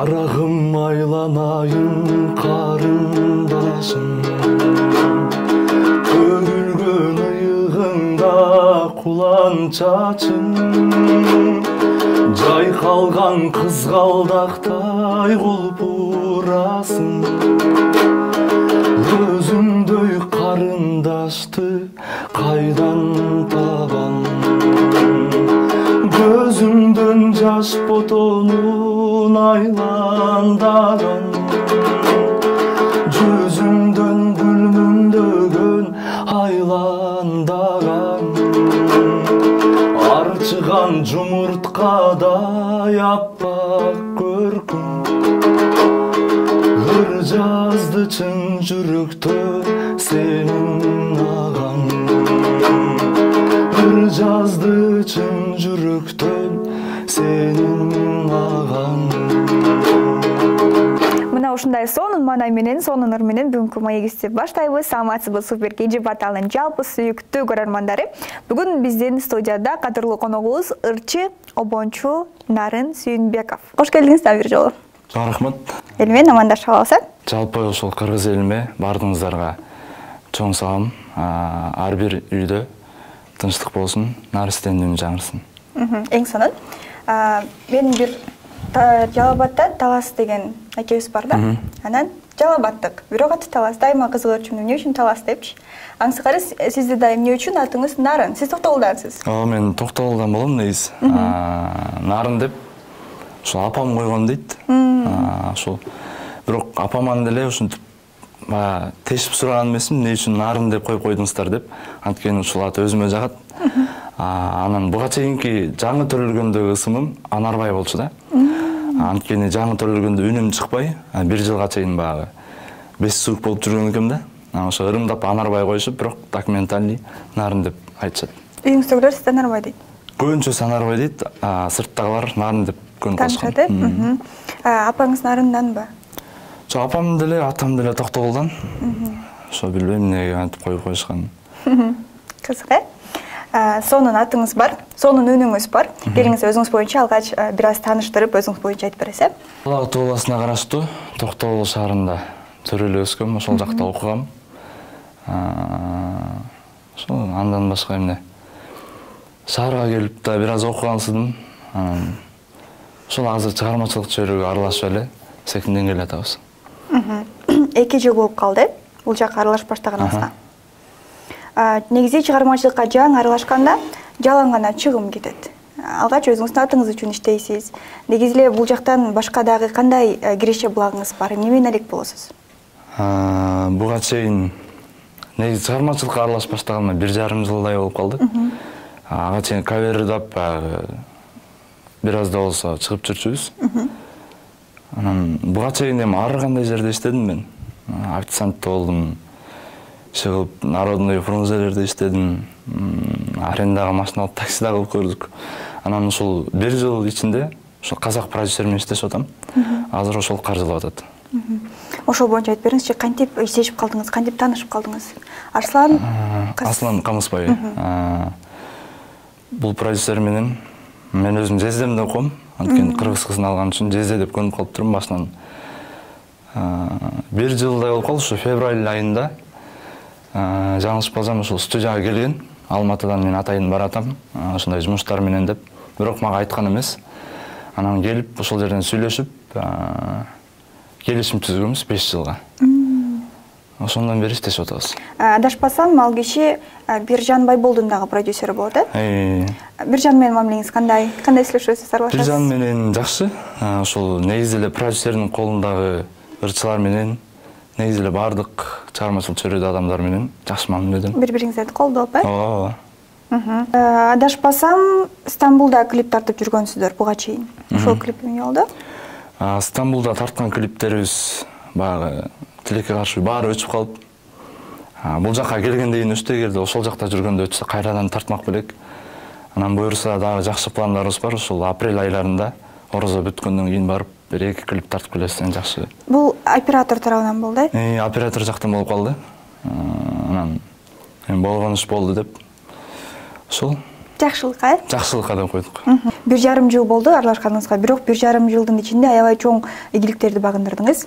Карагым айланайын карындашым, төгүлгөн ыйыгыңда кулан чачың, жайкалган кызгалдактай кулпурасың. Өзүмдөй карындашты кайдан табам, көзүмдөн жаш ботонун айландаган, жүзүмдөн гүл мүңдөгөн айландаган, арчыган жумурткадай аппак көркүм, ыр жазды чын жүрөктөн сенин аган, ыр жазды чын жүрөктөн сенин аган. Мына ушундай сонун маанай менен, сонун ыр менен бүгүнкү маегибизди баштайбыз. Саламатсызбы супер кенже баталдын жалпы сүйүктүү көрөрмандары. Бүгүн биздин студияда кадырлуу коногубуз ырчы, обончу Нарын Сүйүнбеков. Кош келдиңиз да бир жолу. Рахмат. Эл менен амандашып алабыз. Жалпы ошол кыргыз элиме баардыгыңыздарга чоң салам. Ар бир үйдө тынчтык болсун, наристенин үнү жаңырсын. Эң сонун. Мен бир Жалал Абадда Талас деген акебиз бар да. Анан Жалал Абаддык, бирок аты Талас. Дайыма кызыгып эмне үчүн Талас депчи. Аңсыкары сизди да эмне үчүн атыңыз Нарын? Сиз Токтогулдансыз. Мен Токтогулдан болом негизи. Нарын деп ошо апам койгон дейт. Ошол бирок апаман деле ушинтип тешип сураган эмесмин, эмне үчүн Нарын деп коюп койдуңуздар деп. Анткени ушул ат өзүмө жагат. Анан буга чейинки жаңы төрөлгөндөгү ысымым Анарбай болчу да. Анткени жаңы төрөлгөндө үнүм чыкпай, бир жылга чейин баягы бес суук болуп жүргөн экем да. Ошо ырымдап Анарбай коюшуп, бирок документальный Нарын деп айтышат. Үйүңүздөгүлөр сизди Анарбай дейт. Көбүнчөсү Анарбай дейт, сырттагылар Нарын деп көнүп калышкан. Апаңыз Нарынданбы? Жок, апам деле, атам деле Токтогулдан. Ошо билбейм эмнеге антип коюп коюшкан. Кызык, сонун атыңыз бар, сонун үнүңүз бар. Келиңиз өзүңүз боюнча алгач бир аз тааныштырып, өзүңүз боюнча айтып бересиз. Ала Ат областына караштуу Токтогул шаарында төрөлүп өскөм, ошол жакта окугам. Ошол андан башка эмне. Шаарга келип да бир аз окугансыдым. Ошол азыр чыгармачылык чөйрөгө аралашып эле секинден келатабыз. 2 жыл болуп калды бул жакка аралашып баштаганыңызга. Негизи чыгармачылыкка жаңы аралашканда жалаң гана чыгым кетет. Алгач өзүңүздүн атыңыз үчүн иштейсиз. Негизи эле бул жактан башка дагы кандай киреше булагыңыз бар? Эмне менен элек болосуз? Буга чейин негизи чыгармачылыкка аралашып баштаганыма 1,5 жылдай болуп калды. Ага чейин кавердап бир аз да болсо чыгып жүрчүбүз. Анан буга чейин эми ар кандай жерде иштедим мен. Официант болдум. Чыгып народный фрунзелерде иштедим. Арендага машина алып таксида кылып көрдүк. Анан ушул 1 жыл ичинде ошол казак продюсер менен иштешип атам. Азыр ошол каржылап атат. Ошол боюнча айтып бериңизчи, кантип иштешип калдыңыз, кантип таанышып калдыңыз? Арслан Камысбай. Бул продюсер менен мен өзүм Жездемде окуйм. Анткени кыргыз кызын алган үчүн Жезде деп көнүп калыптырмын башынан. 1 жылдай болуп калды, ушу февраль айында жаңылышпасам ушул студияга келген. Алматыдан мен атайын баратам, ошондой жумуштар менен деп. Бирок мага айткан эмес. Анан келип ошол жерден сүйлөшүп, келишим түзгөнбүз 5 жылга. Ошондон бери иштешип атабыз. Адашпасам, ал киши Биржан Байболдун дагы продюсери болот, Биржан менен мамилеңиз кандай? Кандай сүйлөшөсүз, аралашасыз? Биржан менен жакшы. Ошол негизи эле продюсердин колундагы ырчылар менен, негизи эле бардык чыгармачылык чөйрөдө адамдар менен жакшы мамиледим. Бири-бириңиздерди колдоп, Адашпасам, Стамбулда клип тартып жүргөнсүздөр буга чейин. Ошол клип эмне болду? Стамбулда тарткан клиптерибиз баягы тилекке каршы баары өчүп калып, бул жакка келгенден кийин өчтү, эгерде ошол жакта жүргөндө өтсө кайрадан тартмак белек. Анан буюрса дагы жакшы пландарыбыз бар, ушул апрель айларында орозо бүткөндөн кийин барып бир 2 клип тартып келесен жакшы. Бул оператор тарабынан болду, Оператор жактан болуп калды. Анан болгон иш болду деп. Ошол Жакшылыкка Жакшылыкка деп койдук. 1,5 жыл болду аралашканыңызга, бирок 1,5 жылдын ичинде аябай чоң ийгиликтерди багындырдыңыз.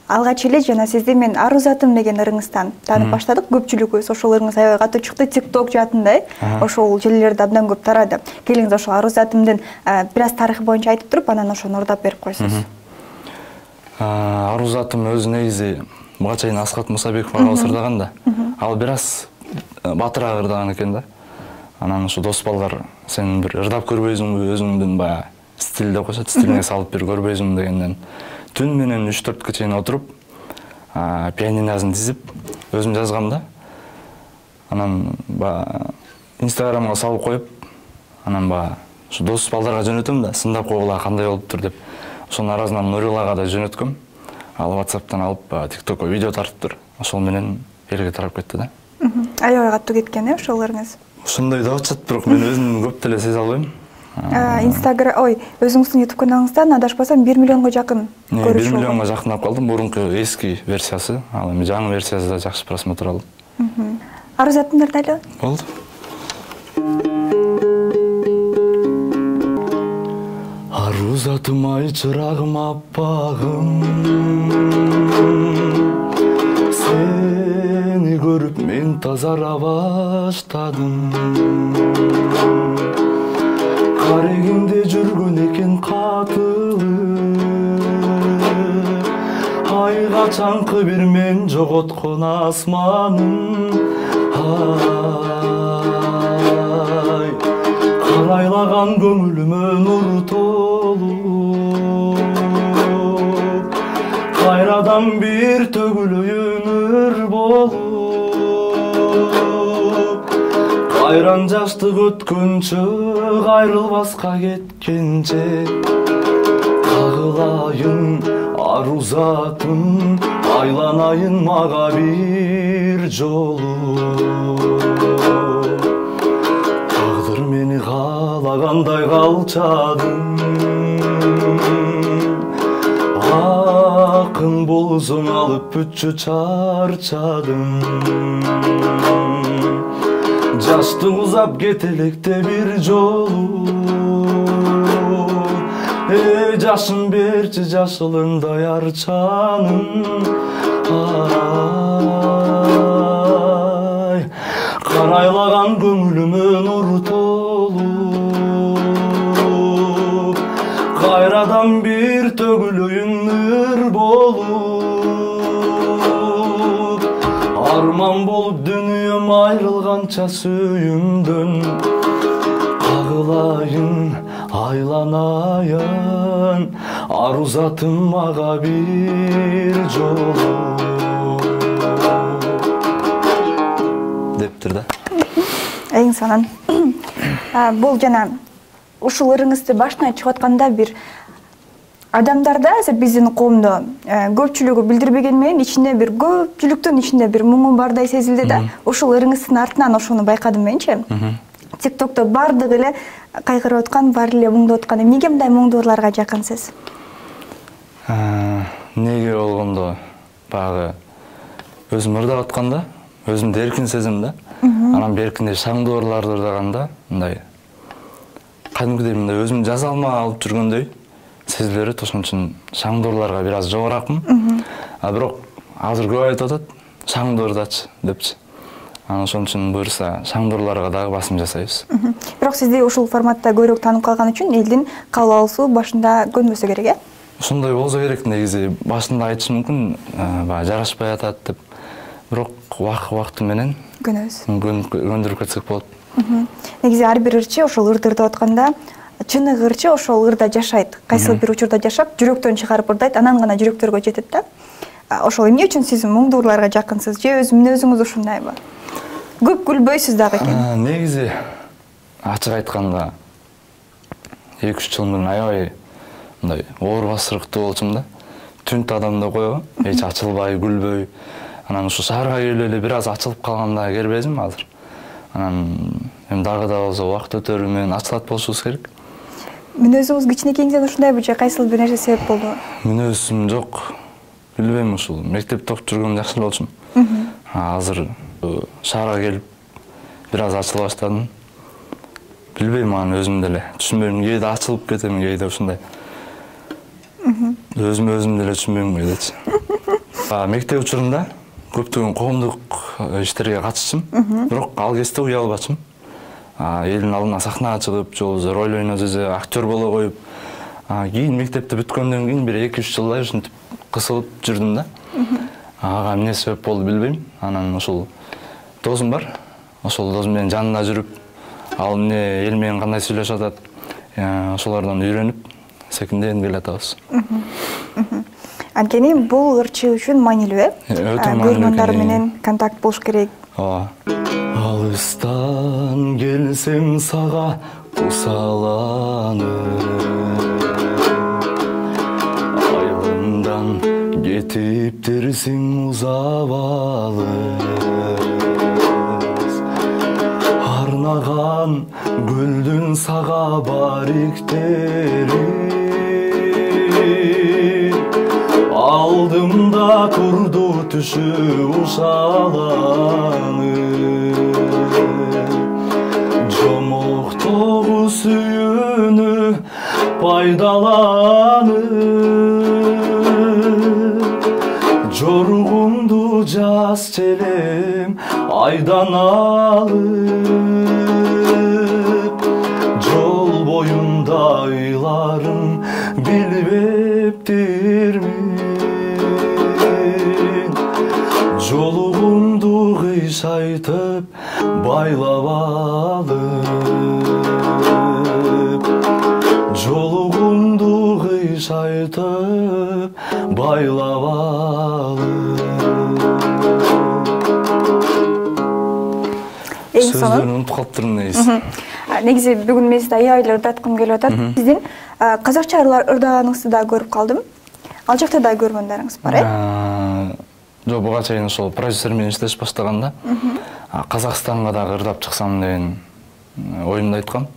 Алгач эле жана сизди мен Ару затым деген ырыңыздан таанып баштадык. Көпчүлүгүбүз ошол ырыңыз аябай катуу чыкты, TikTok жаатында ошол желилерде абдан көп тарады. Келиңиз ошол Ару затымдын бир аз тарыхы боюнча айтып туруп, анан ошону ырдап берип койсуңуз. Ару затым өзү негизи буга чейин Аскат Мусабеков агабыз ырдаган да. Ал бир аз батыраак ырдаган экен да. Анан ушу дос балдар сен бир ырдап көрбөйсүңбү, өзүңдүн баягы стиль деп коюшат, стилиңе салып бир көрбөйсүңбү дегенден түн менен 3-4 чейин отуруп, пианинозун тизип, өзүм жазгам да. Анан Инстаграмга салып коюп, анан ушу дос балдарга жөнөтөм да, сындап койгула кандай болуптур деп. Ошонун арасынан Нурилага да жөнөткөм. Ал WhatsApp'тан алып, TikTokко видео тартыптыр. Ошол менен элге тарап кетти да. Аябай катуу кеткен ошол ырыңыз. Ошондой деп атышат, бирок мен өзүм көп деле сезе албайм. Өзүңүздүн YouTube каналыңыздан адашпасам 1 миллионго жакын көрүш 1 миллионго жакындап калдым. Мурунку эски версиясы, ал эми жаңы версиясы да жакшы просмотр алды. Ару затымды ырдайлы. Болду. Ару затым ай чырагым аппагым, сени көрүп мен тазара баштадым. Карегимде жүргөн экен катылып, ай качанкы бир мен жоготкон асманым. Ай карайлаган көңүлүмө нур толуп, кайрадан бир төгүлөйүн ыр болуп, кайран жаштык өткөнчө кайрылбаска кеткенче, кагылайын ару затым, айланайын мага бир жолу. Тагдыр мени каалагандай калчадым, акын болсоң алып бүтчү чарчадым. Жаштык узап кетелекте бир жолу, жашын берчи жашылындай арчанын. Ай карайлаган көңүлүмө нур толуп, кайрадан бир төгүлөйүн ыр болуп, арман болуп дүнүйөм айрылганча сүйүмдөн, кагылайын айланайын ару затым мага бир жолу дептир да. Эң сонун. Бул жана ушул ырыңызды башынан чыгып атканда бир адамдарда, биздин коомдо көпчүлүгү билдирбеген менен ичинде бир көпчүлүктүн ичинде бир муңу бардай сезилди да. Ушул ырыңыздын артынан ошону байкадым менчи. TikTok'то бардыгы эле кайгырып аткан, баары эле муңдоп аткан. Эмнеге мындай муңдууларга жакынсыз? Неге болгондо баягы өзүм ырдап атканда, өзүмдү эркин сезем да. Анан беркинде шаңдоорларды ырдаганда мындай кадимкидей мындай өзүм жаза алмай алып жүргөндөй сезиле берет. Ошон үчүн шаңдоорларга бир аз жогоракмын. Бирок азыр көп айтып атат, шаңдоордачы депчи. Анан ошон үчүн буюрса шаңдоорларга дагы басым жасайбыз. Бирок сизди ушул форматта көбүрөөк таанып калган үчүн элдин кабыл алуусу башында көнбөсө керек, э? Ошондой болсо керек, негизи башында айтышы мүмкүн, баягы жарашпай атат деп. Бирок убакыты менен көндүрүп кетсек болот. Негизи ар бир ырчы ошол ырды ырдап атканда чыныгы ырчы ошол ырда жашайт. Кайсыл бир учурда жашап, жүрөктөн чыгарып ырдайт, анан гана жүрөктөргө жетет да. Ошол эмне үчүн сиз муңдууларга жакынсыз же өз мүнөзүңүз ушундайбы? Көп күлбөйсүз дагы экен. Негизи ачык айтканда 2-3 жыл мурун аябай мындай оор басырыктуу болчумун да. Түнт адам деп койго, эч ачылбай, күлбөй. Анан ушу шаарга келип эле бир аз ачылып калганда келбедим азыр. Анан эми дагы да болсо убакыт өтөрү менен ачылат болушубуз керек. Мүнөзүңүз кичинекейиңизден ушундайбы же кайсыл бир нерсе себеп болду? Мүнөзүм жок. Билбейм, ушул мектепте окуп жүргөндө жакшы болчумун. Азыр шаарга келип бир аз ачыла баштадым. Билбейм, аны өзүм деле түшүнбөйм. Кээде ачылып кетем, кээде ушундай. Өзүм деле түшүнбөйм кээдечи. Мектеп учурунда көптөгөн коомдук иштерге катышчым, бирок ал кезде уя албачым. Элдин алдына сахнага чыгып, же болбосо роль ойноп, же актер боло коюп. Кийин мектепти бүткөндөн кийин бир 2-3 жылдай ушинтип кысылып жүрдүм да. Ага эмне себеп болду билбейм. Анан ошол досум бар. Ошол досум менен жанында жүрүп, ал эмне эл менен кандай сүйлөшүп атат, ошолордон үйрөнүп, секинден келе атабыз. Анткени бул ырчы үчүн маанилүү, э? Өтө маанилүү. Көрөрмандар менен контакт болуш керек. Алыстан келсем сага кусаланып, айылымдан кетиптерсиң узап алыс. Арнаган гүлдүн сага бариктери, алдымда турду түшү ушаланып. Жомоктогу сүйүүнү пайдаланып, жоругумду жаз челем айдан алып, жол боюнда ыйларым билбептирмин. Жолугумду кыйшайтып байлап алып, жолугумду кыйшайтып байлап алып. Сөздөрүн унутуп калыптырмын негизи. Негизи бүгүн мен сизди аябай ырдаткым келип атат. Сиздин казакча ырдааганыңызды да көрүп калдым. Ал жакта да көргөндөрүңүз бар, э? Жок, буга чейин ошол продюсер менен иштеш баштаганда Казакстанга дагы ырдап чыксам деген оюмду айткам.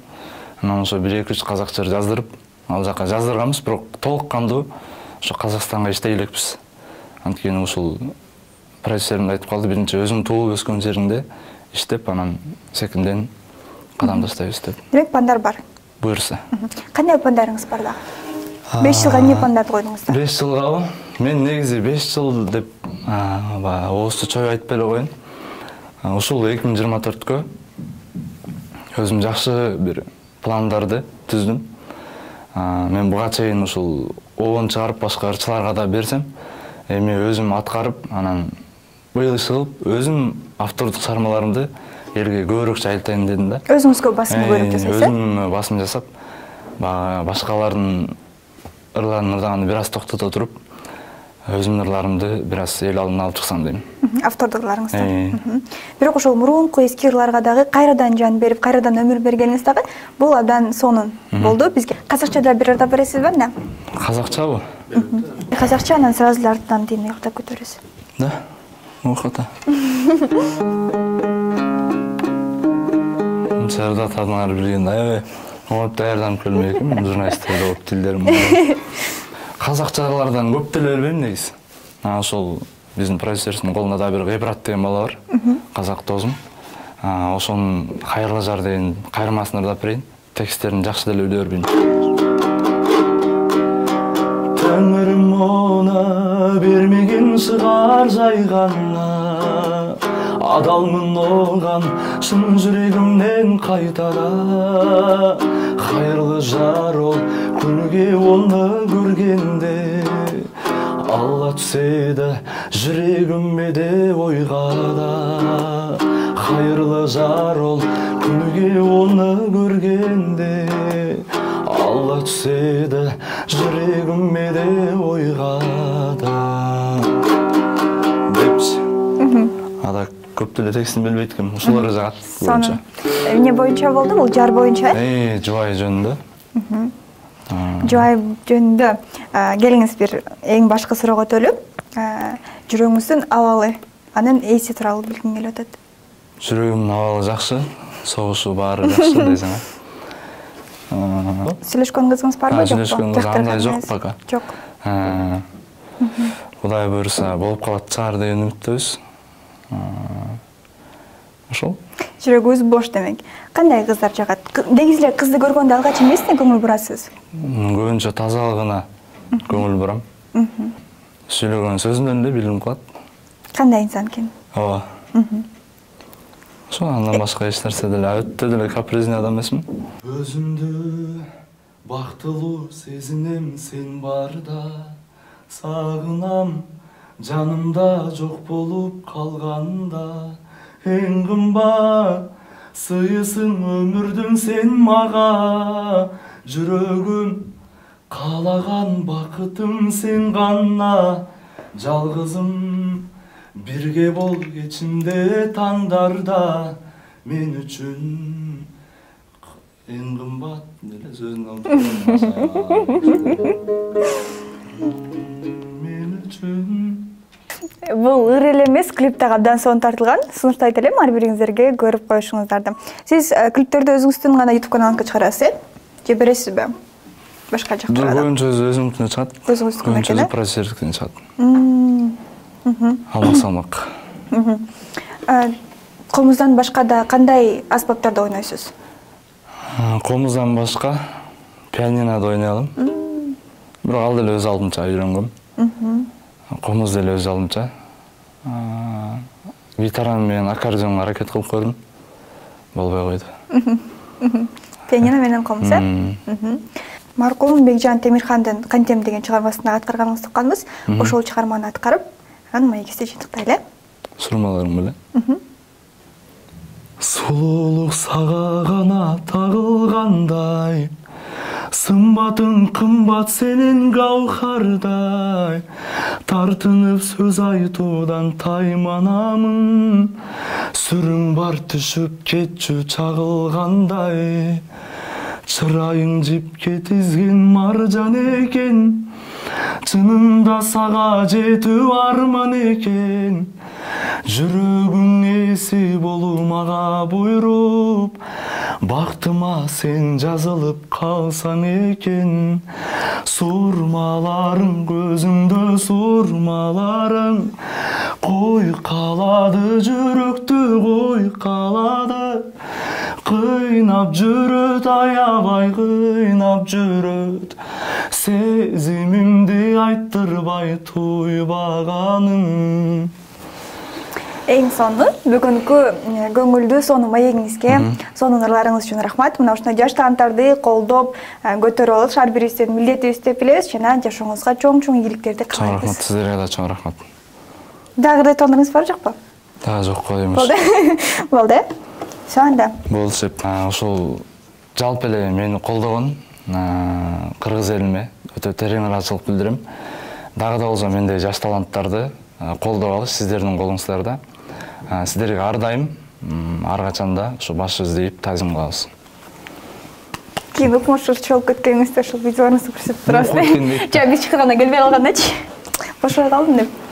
Анан ошо 1-2-3 казакча жаздырып, ал жака жаздырганбыз, бирок толук кандуу ошо Казакстанга иштей элекпиз. Анткени ушул продюсерим айтып калды, биринчи өзүң туулуп өскөн жериңде иштеп, анан секинден кадам таштайбыз деп. Демек, пландар бар. Буюрса. Кандай пландарыңыз бар дагы? 5 жылга эмне пландарды койдуңуздар? 5 жылгабы? Мен негизи 5 жыл деп оозду чоюп айтпай эле коеюн. Ушул 2024кө өзүм жакшы бир пландарды түздүм. Мен буга чейин ушул оон чыгарып башка ырчыларга да берсем, эми өзүм аткарып, анан быйыл иш кылып, өзүм автордук чыгармаларымды элге көбүрөөк жайылтайын дедим да. Өзүңүзгө басым көрүп жасайсыз? Өзүм басым жасап, башкалардын ырларын ырдаганды бир аз токтото туруп, өзүмдүн ырларымды бир аз эл алдына алып чыксам дейм. Автордук ырларыңызды. Бирок ошол мурунку эски ырларга дагы кайрадан жан берип, кайрадан өмүр бергениңиз дагы бул абдан сонун болду бизге. Казакчада бир ырдап бересизби эмне? Казакчабы? Казакча, анан сразу эле артынан дейм ыктап көтөрөсүз. Да. Охота. Сырдат адамдар билгенде аябай оңоп даярданып келмек экенмин, журналисттер болуп тилдерим. Казакчалардан көп деле билбейм негизи. Ошол биздин продюсердин колунда да бир Гайбрат деген бала бар, казак досум. Ошонун Кайырлы жар деген кайырмасын ырдап берейин. Тексттерин жакшы деле биле бербейм. Тәңірім она бермеген шығар жайғанна, адалмын оған шын жүрегімнен қайтара. Қайырлы жар ол күніге оны көргенде, алла түседі жүрегіме де ойға да. Қайырлы жар ол күніге оны көргенде, алла түседі жүрегіме де ойға да. Депші. Ада көп деле текстин билбейт экенмин, ушулар жагат боюнча. Эмне боюнча болду бул? Жар боюнча? Жубай жөнүндө. Жубай жөнүндө келиңиз бир эң башкы суроого өтөлүп, жүрөгүңүздүн абалы, анын эси тууралуу билгим келип атат. Жүрөгүмдүн абалы жакшы, согушу баары жакшы десең. Сүйлөшкөн кызыңыз барбы, жокпу? Сүйлөшкөн кыз андай жок пока. Жок. Кудай буйруса болуп калат чыгар деген үмүттөбүз. ошол. Жүрөгүңүз бош демек. Кандай кыздар жагат? Негизи эле кызды көргөндө алгач эмнесине көңүл бурасыз? Көбүнчө тазалыгына көңүл бурам. Сүйлөгөн сөзүнөн эле билинип калат. Кандай инсан экен? Ооба. Ошо андан башка эч нерсе деле өтө деле капризный адам эмесмин. Өзүмдү бактылуу сезинем сен барда, сагынам жанымда жок болуп калганда. Эң кымбат сыйысың өмүрдүн сен мага, жүрөгүм каалаган бакытым сен гана. Жалгызым бирге бол кечимде таңдарда, мен үчүн эң кымбат деле сөзүн алып мен үчүн. Бул ыр эле эмес, клип дагы абдан сонун тартылган. Сунуштайт элем ар бириңиздерге көрүп коюшуңуздарды. Сиз клиптерди өзүңүздүн гана YouTube каналыңызга чыгарасыз, же бересизби? Башка жакка? Көбүнчө өзүмдүкүнө чыгат. Өзүңүздүкүнө экен, продюсердикине чыгат. Алмак. Комуздан башка да кандай аспаптарда ойнойсуз? Комуздан башка пианинода ойной алам. Бирок ал деле өз алдынча үйрөнгөм. Комуз деле өз алдынча. Гитара менен аккордеонго аракет кылып көрдүм. Болбой койду. Пианино менен комуз, Маркум Бекжан Темирхандын «Кантем» деген чыгармасында аткарганыңызды укканбыз. Ошол чыгарманы аткарып, анан маегизди жыйынтыктайлы. Сурмаларым беле. Сулуулук сага гана тагылгандай, сымбатың кымбат сенин гаухардай. Тартынып сөз айтуудан тайманамын, сүрүң бар түшүп кетчү чагылгандай. Чырайың жипке тизген маржан экен, чынында сага жетүү арман экен. Жүрөгүң эси болуу мага буйруп, бактыма сен жазылып калсаң экен. Сурмаларың көзүмдө сурмаларың, кой калады жүрөктү кой калады. Кыйнап жүрөт, аябай кыйнап жүрөт, сезимимди айттырбай туйбаганым. Эң сонун бүгүнкү көңүлдүү сонун маегиңизге, сонун ырларыңыз үчүн рахмат. Мына ушундай жаш таланттарды колдоп, көтөрүп алыш ар бирибиздин милдетибиз деп билебиз жана жашооңузга чоң ийгиликтерди каалайбыз. Рахмат, сиздерге да чоң рахмат. Дагы кырдааларыңыз бар жокпу? Дагы жок го деймиш. Болду. Все анда. Болчу. Ошол жалпы эле мени колдогон кыргыз элиме өтө терең ыраазычылык билдирем. Дагы да болсо мендей жаш таланттарды колдоп алыш сиздердин колуңуздарда. Сиздерге ар дайым, ар качанда ушу баш издейип тазим кылабыз. Кийин укмуш чогулуп кеткениңизде ушул видеолоруңузду көрсөтүп турасыз. Жа биз чыкканда келбей калгандачы. Бошой калдым деп.